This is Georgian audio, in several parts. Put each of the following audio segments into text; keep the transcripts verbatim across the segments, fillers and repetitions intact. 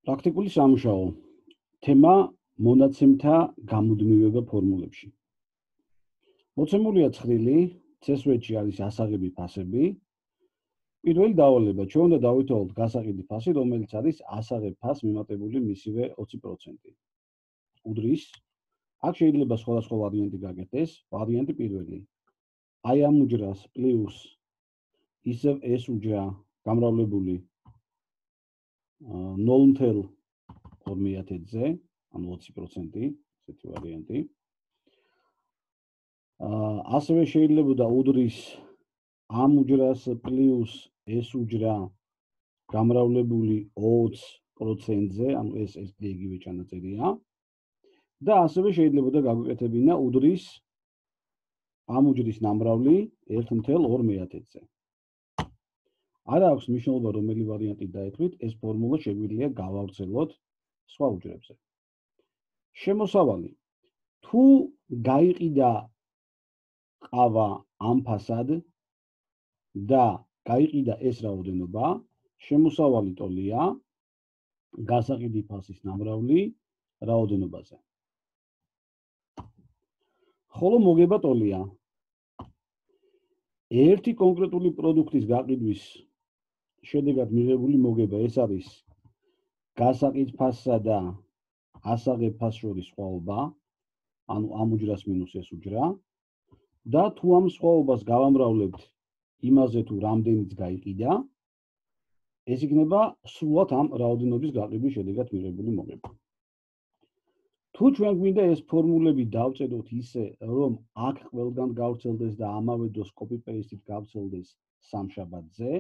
პრაქტიკული სამუშაო. თემა მონაცემთა გამუდმივება ფორმულებში. მოცემულია ცხრილი, წესვეთში არის ასაღები ფასები. პირველი დავალება, ჩვენ უნდა დავითვალოთ გასაყიდი ფასი, რომელიც არის ასაღებ ფასს მიმატებული მისივე ოცი პროცენტი. უდრის, აქ შეიძლება სხვადასხვა ვარიანტი გაკეთდეს. ვარიანტი პირველი. აი ამ უჯრას პლუს ისევ ეს უჯრა გამრავლებული ნულ ათეულ ორ მეათედზე, ანუ ოცი პროცენტი, ესეთი ვარიანტი. ასევე შეიძლება უდრის ამ უჯრას პლუს ეს უჯრა გამრავლებული ოცი პროცენტზე, ანუ ეს ეს იგივე ჩანაწერია. და ასევე შეიძლება გაგვეკეთებინა უდრის ამ უჯრის ნამრავლი ერთ ათეულ ორ მეათედზე. არ აქვს მნიშვნელობა რომელი ვარიანტი დაეთქვით, ეს ფორმულა შეგვიძლია გავავრცელოთ სხვა უჯრებზე. შემოსავალი. თუ გაიყიდა ყავა ამ ფასად და გაიყიდა ეს რაოდენობა, შემოსავალი ტოლია გასაყიდი ფასის ნამრავლი რაოდენობაზე. ხოლო მოგება ტოლია ერთი კონკრეტული პროდუქტის გაყიდვის შედეგად მიღებული მოგება, ეს არის გასაყიდ ფასსა და ასაღებ ფასს შორის სხვაობა, ანუ ამ უჯრას მინუს ეს უჯრა. და თუ ამ სხვაობას გავამრავლებთ იმაზე თუ რამდენიც გაიყიდა, ეს იქნება სრულად ამ რაოდენობის გაყიდვის შედეგად მიღებული მოგება. თუ ჩვენ გვინდა ეს ფორმულები დავწეროთ ისე, რომ აქ ყველგან გავრცელდეს და ამავე დროს copy paste-ით გავრცელდეს სამშაბათზე,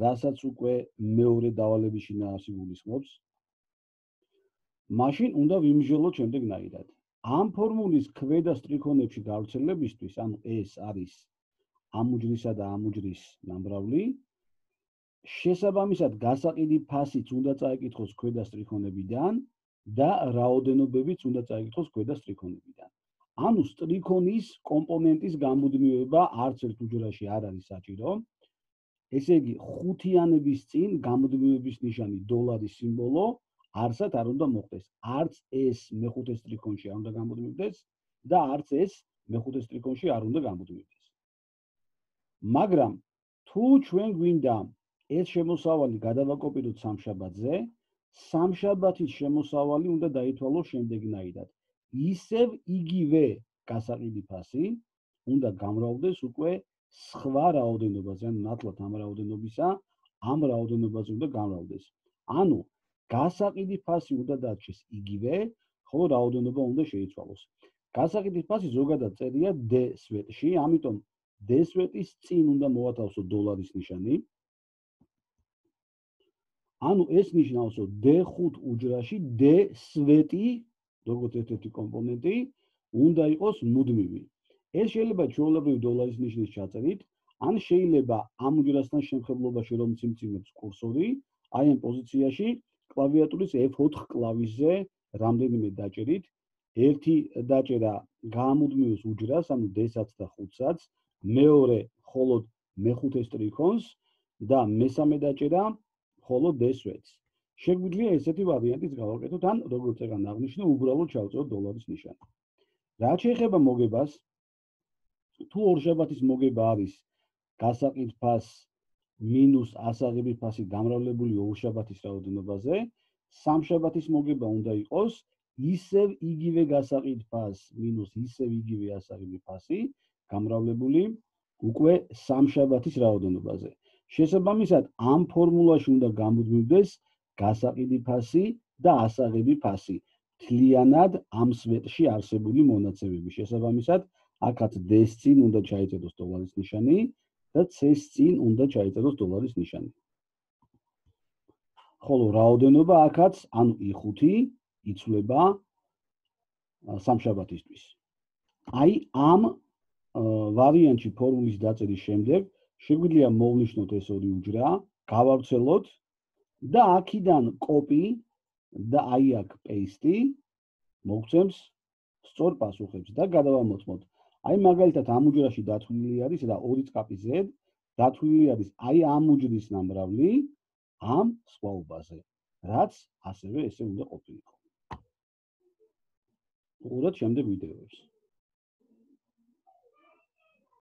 რასაც უკვე მეორე დავალების შინაარსი გულისხმობს, მაშინ უნდა ვიმსჯელოთ შემდეგნაირად. ამ ფორმულის ქვედა სტრიქონებში გავრცელებისთვის, ანუ ეს არის ამ უჯრისა და ამ უჯრის ნამრავლი, შესაბამისად გასაყიდი ფასიც უნდა წაეკითხოს ქვედა სტრიქონებიდან და რაოდენობებიც უნდა წაიკითხოს ქვედა სტრიქონებიდან. ანუ სტრიქონის კომპონენტის გამუდმივება არც ერთ უჯრაში არ არის საჭირო. ესე იგი, ხუთიანების წინ გამუდმივების ნიშანი დოლარის სიმბოლო არსად არ უნდა მოხდეს. არც ეს მეხუთე სტრიქონში არ უნდა გამუდმივდეს და არც ეს მეხუთე სტრიქონში არ უნდა გამუდმივდეს. მაგრამ თუ ჩვენ გვინდა ეს შემოსავალი გადავაკოპიროთ სამშაბათზე, სამშაბათის შემოსავალი უნდა დაითვალოს შემდეგნაირად. ისევ იგივე გასაყიდი ფასი უნდა გამრავლდეს უკვე სხვა რაოდენობაზე, ანუ ნათლად ამ რაოდენობისა, ამ რაოდენობაზე უნდა გამრავლდეს. ანუ გასაყიდი ფასი უნდა დარჩეს იგივე, ხოლო რაოდენობა უნდა შეიცვალოს. გასაყიდი ფასი ზოგადად წერია D სვეტში, ამიტომ D სვეტის წინ უნდა მოვათავსოთ დოლარის ნიშანი. ანუ ეს ნიშნავს, რომ D ხუთი უჯრაში D სვეტი, როგორც ერთ-ერთი კომპონენტი, უნდა იყოს მუდმივი. ეს შეიძლება ჩვეულებრივ დოლარის ნიშნის ჩაწერით, ან შეიძლება ამ უჯრასთან შემხებლობაში რომ სიმძიმებს კურსორი, აი ამ პოზიციაში კლავიატურის F ოთხ კლავიშზე რამდენიმე დაჭერით, ერთი დაჭერა გამუდმივს უჯრას, ანუ D-საც და ხუთსაც, მეორე მხოლოდ მეხუთე სტრიქონს და მესამე დაჭერა მხოლოდ D სვეტს. შეგვიძლია ესეთი ვარიანტიც გავაკეთოთ, ან როგორც ეგან აღნიშნე, უბრალოდ ჩავწეროთ დოლარის ნიშანი. რაც შეეხება მოგებას, თუ ორშაბათის მოგება არის გასაყიდ ფასს მინუს ასაღები ფასი გამრავლებული ორშაბათის რაოდენობაზე, სამშაბათის მოგება უნდა იყოს ისევ იგივე გასაყიდ ფასს მინუს ისევ იგივე ასაღები ფასი გამრავლებული უკვე სამშაბათის რაოდენობაზე. შესაბამისად, ამ ფორმულაში უნდა გამუდმივდეს გასაყიდი ფასი და ასაღები ფასი მთლიანად ამ სვეტში არსებული მონაცემები. შესაბამისად, აქაც D-ს წინ უნდა ჩაიწეროს დოლარის ნიშანი და C-ს წინ უნდა ჩაიწეროს დოლარის ნიშანი. ხოლო რაოდენობა აქაც, ანუ I ხუთი იცვლება სამშაბათისთვის. აი ამ ვარიანტში ფორმულის დაწერის შემდეგ შეგვიძლია მოვნიშნოთ ეს ორი უჯრა, გავავრცელოთ და აქედან copy და აი აქ paste მოგცემს სწორ პასუხებს და გადავამოწმოთ. აი მაგალითად ამ უჯრაში დათვლილი არის რა ორი წკაპი Z, დათვლილი არის აი ამ უჯრის ნამრავლი ამ სხვაობაზე. რაც ასევე ესე უნდა ყოფილიყო. უყუროთ შემდეგ ვიდეოებს.